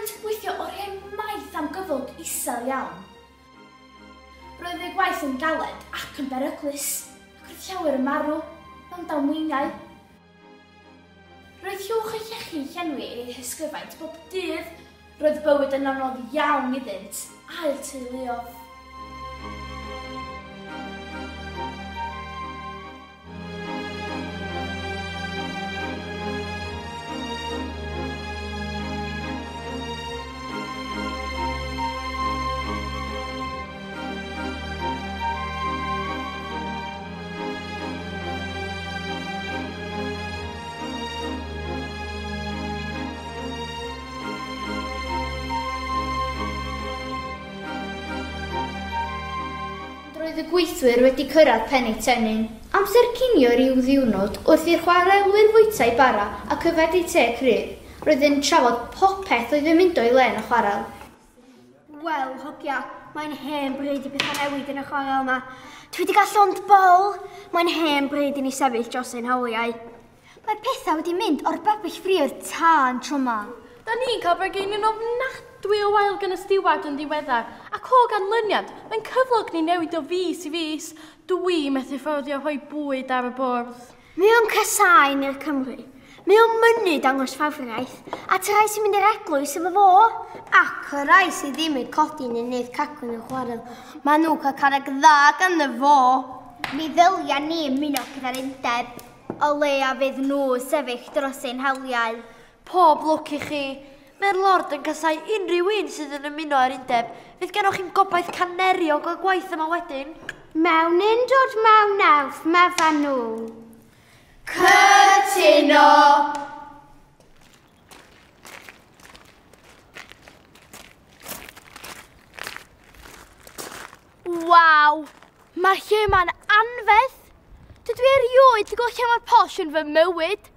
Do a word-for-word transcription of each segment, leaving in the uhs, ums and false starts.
Roeddynt yn gweithio oriau maith am gyflog isel iawn. Roedd eu gwaith yn galed ac yn beryglus, ac roedd llawer yn marw mewn damweiniau. Roedd llwch y llechi yn llenwi eu hysgyfaint bob dydd. Roedd bywyd yn anodd iawn iddynt a'u teuluoedd. Roedd y gweithwyr wedi cyrraedd pen eu tennyn. Amser cinio ryw ddiwrnod wrth i'r chwarelwyr fwyta'u bara ac yfed eu te cryf, roedd yn trafod popeth oedd yn mynd o'i le yn y chwarel. Wel, hogia, mae'n hen bryd i bethau newid yn y chwarel yma. Dwi wedi cael llond bol. Mae'n hen bryd i ni sefyll dros ein hawliau. Mae pethau wedi mynd o'r babell ffrio'r tân tro 'ma. Da ni'n cael bargeinion ofnadwy o wael gan y stiward yn ddiweddar, ac o ganlyniad, mae'n cyflog ni newid o fis i fis. Dwi methu fforddio rhoi bwyd ar y bwrdd. Mae o'n casáu ni'r Cymru. Mae o'n mynnu dangos ffafriaeth, at y rhai sy'n mynd i'r eglwys efo fo. Ac y rhai sydd ddim yn codi neu wneud cacwn yn chwarel, maen nhw'n cael carreg dda ganddo fo. Mi ddylia ni ymuno gyda'r undeb, o leia fydd nhw sefyll dros ein hawliau. Pob lwc i chi. Mae'r Lord yn casáu unrhyw un sydd yn ymuno â'r undeb. Fydd gennoch chi'm gobaith caneri o gael gwaith yma wedyn. Mewn undod mewn elf, medda nhw. Cytuno! Waw! Mae'r lle yma'n anferth! Dydw i erioed wedi gweld lle mor posh yn fy mywyd.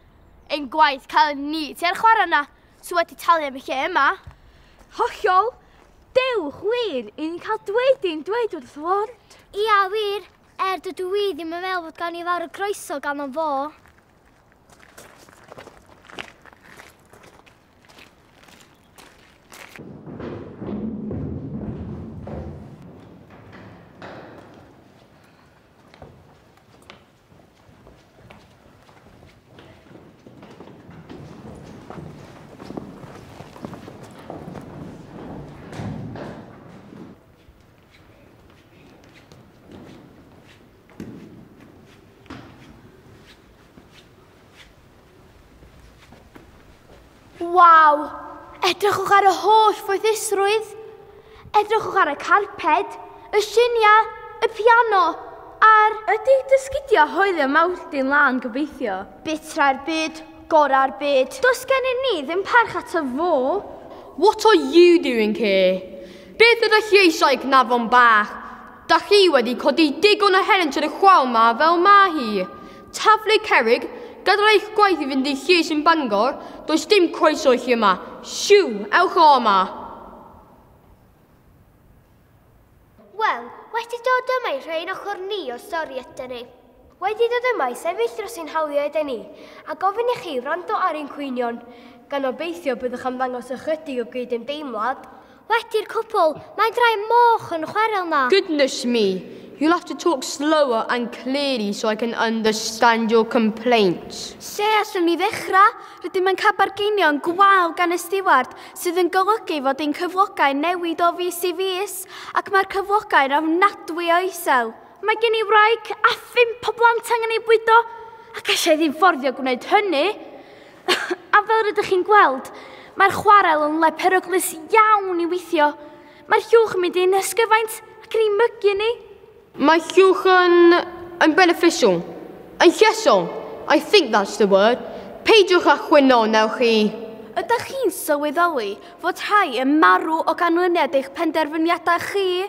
Ein gwaith cael ni tua'r chwarae yna, sydd wedi talu am y lle yma. Hollol, dewch wir i ni cael dweud i'n dweud wrth Lord. Ia wir, er dydw i ddim yn meddwl bod gan i fawr o groeso gan o fo. Waw! Edrychwch ar y holl foethusrwydd. Edrychwch ar y carped, y lluniau, y piano, a'r... Ydy dysgidio hoelio mawrthyn lân gobeithio? Bitra'r byd, gora'r byd. Does gennym ni ddim parch ato fo. What are you doing here? Beth ydych chi eisiau cnafon bach? Da chi wedi codi digon o helynt yn y chwal ma fel ma hi. Taflu cerrig, gadael eich gwaith i fynd i llys yn Bangor, does dim croeso i chi yma. Siw, ewch o yma. Wel, wedi dod yma i rhoi ein ochr ni o stori ydyn ni. Wedi dod yma i sefyll dros ein hawliau ydyn ni, a gofyn i chi wrando ar ein cwynion, gan obeithio byddwch am ddangos ychydig o gydymdeimlad. Wedi'r cwbl, mae'n drai moch yn chwarel na. Goodness me, you'll have to talk slower and clearly so I can understand your complaints. Lle allwn ni ddechrau? Rydym yn cael bargeinion gwael gan y stiward sydd yn golygu fod ein cyflogau newid o fis i fis, ac mae'r cyflogau'n ofnadwy o isel. Mae gen i wraig a phump o blant angen ei bwydo, ac allai ddim fforddio gwneud hynny. A fel rydych chi'n gweld, mae'r chwarel yn le peryglus iawn i weithio. Mae'r llwch yn mynd i'n ysgyfaint ac yn ei mygu ni. Mae llwch yn, yn beneficial, yn llesol. I think that's the word. Peidiwch â chwyno, newch chi. Ydych chi'n sylweddoli fod rhai yn marw o ganlyniad eich penderfyniadau chi?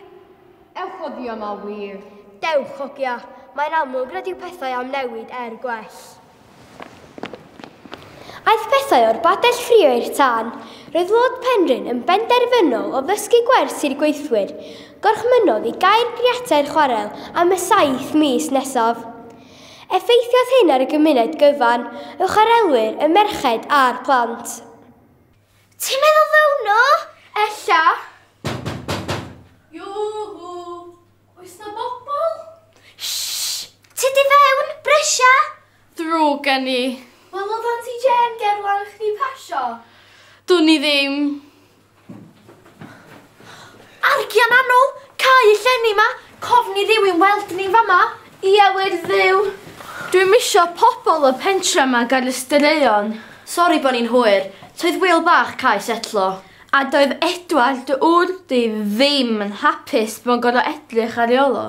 Ewch oddi yma wir. Dewch, hogia. Mae'n amlwg nad yw pethau am newid er gwell. Aeth pethau o'r badell ffrio i'r tân. Roedd Lord Penrhyn yn benderfynol o ddysgu gwers i'r gweithwyr. Gorchmynnodd i gau'r griatau'r chwarel am y saith mis nesaf. Effeithiodd hyn ar y gymuned gyfan, y chwarelwyr, y merched a'r plant. Ti'n meddwl ddown nhw? Ella. Iwhw! Oes na bobl? Shh! Ti di fewn, brysia! Ddrwg gen i. Wel, oedd Auntie Jane gerlan chdi pasio? Dwn i ddim. Argian annwl, cau y llenni ma, cofni rywun weld ni fama. Ia, wir ddiw. Dwi'm isio pobl y pentra yma gael y straeon. Sori bod ni'n hwyr, toedd Wil bach cae setlo. A doedd Edward dy ŵr di ddim yn hapus bod yn gorfod edrych ar ei ôl o.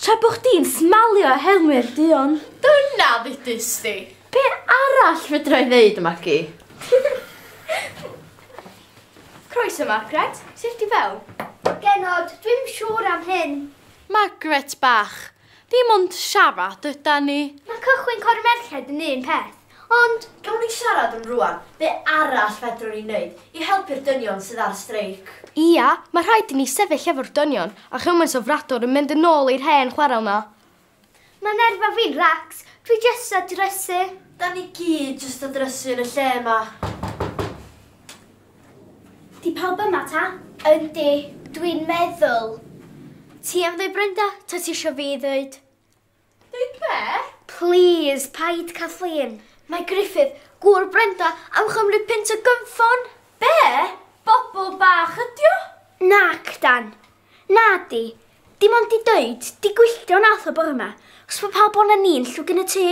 Tra bo chdi'n smalio a helmu'r duon. Dyna ddudus di. Be arall fedra i ddeud, Magi? Croeso, Margaret. Sut di fewn? Genod, dwi'm siŵr am hyn. Margaret bach, dim ond siarad yda ni. Mae cychwyn cor merched yn un peth, ond... Gawn ni siarad am rwan, be arall fedrwn ni wneud i helpu'r dynion sydd ar streic? Ia, mae rhaid i ni sefyll efo'r dynion a chymaint o fradwr yn mynd yn ôl i'r hen chwarel na. Mae nerfa fi'n racs, dwi jyst a drysu. Da ni gyd jyst a drysu yn y lle yma. Di pawb yma ta? Yndi, dwi'n meddwl. Ti am ddweud Brenda, ta ti isio fi ddweud? Dweud be? Please, paid Kathleen. Mae Griffith, gŵr Brenda, am chymryd pint o gynffon. Be? Bobl bach ydi o? Nac, Dan. Na di. Dim ond di dweud, di gwylltio nath o bore yma, os mae pawb o'na ni'n llwg yn y tŷ.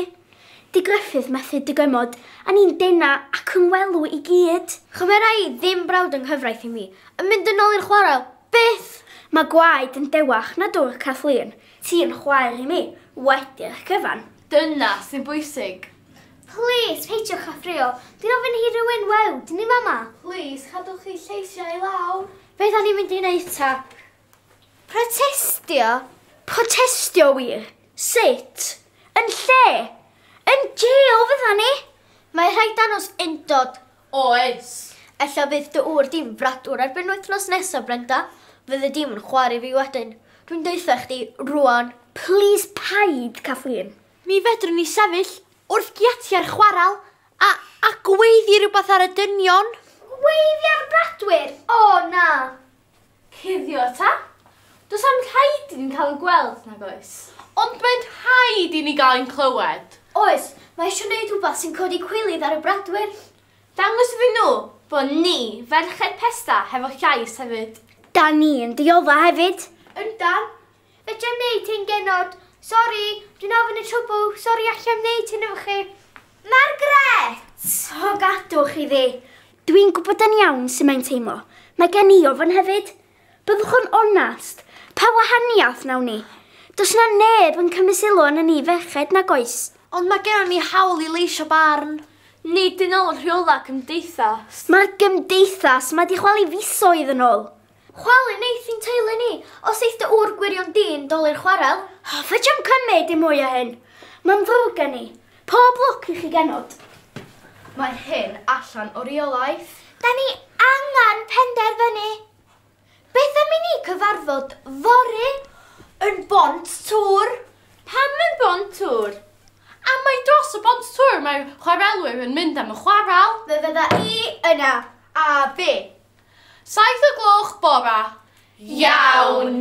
Di Griffith methu dygymod, a ni'n dena ac yn welw i gyd. Chymera i ddim brawd yng nghyfraith i mi, yn mynd yn ôl i'r chwarel, byth! Mae gwaed yn dewach na dŵr Kathleen. Ti'n chwaer i mi, wedi'r cyfan. Dyna sy'n bwysig. Please, peidiwch â ffrio. Dwi'n ofyn i rywun weld, ni mama. Please, cadwch chi lleisiau i lawr. Be da ni'n mynd i wneud ta? Protestio? Protestio wir? Sut? Yn lle? Yn jail fydda ni? Mae rhaid danos undod. Oes. Ella fydd dy ŵr di'n fradwr erbyn wythnos nesaf, Brenda. Fydde dim yn chwarae fi wedyn. Dwi'n deutha chdi rwan. Please paid, Kathleen. Mi fedrwn ni sefyll wrth giatiau'r chwaral a, a gweiddi rhywbeth ar y dynion. Gweiddi ar y bradwyr? O, na. Cuddio ta? Does am rhaid i ni'n cael ein gweld, nag oes? Ond mae'n rhaid i ni gael ein clywed. Oes, mae eisiau gwneud rhywbeth sy'n codi cwilydd ar y bradwyr. Dangos iddyn nhw bod ni, ferched Pesda, hefo llais hefyd. Da ni'n diodda hefyd. Yndan. Fedra i'm wneud hyn, genod. Sori, dwi'n ofyn y trwbl. Sori, allai'm wneud hyn efo chi. Margaret! O, gadwch i fi. Dwi'n gwybod yn iawn sut mae'n teimlo. Mae gen i ofn hefyd. Byddwch yn onast. Pa wahaniaeth nawn ni? Does na neb yn cymryd sylw arnon ni ferched nag oes. Ond mae gennon ni hawl i leisio barn. Nid yn ôl rheola cymdeithas. Mae'r gymdeithas mae di chwalu fisoedd yn ôl. Chwalu neith i'n teulu ni, os eith dy ŵr gwirion dyn doli'r chwarel. O, fedrai'm cymryd dim mwy o hyn. Mae'n ddrwg gen i. Pob lwc i chi genod. Mae hyn allan o reolaeth. Da ni angen penderfynu. Beth am i ni cyfarfod fory? Yn Bont Tŵr. Pam yn Bont Tŵr? A mae dros y Bont Tŵr mae chwarelwyr yn mynd am y chwaral. Fe fydda i yna. A fi. Saith o gloch bora. Iawn.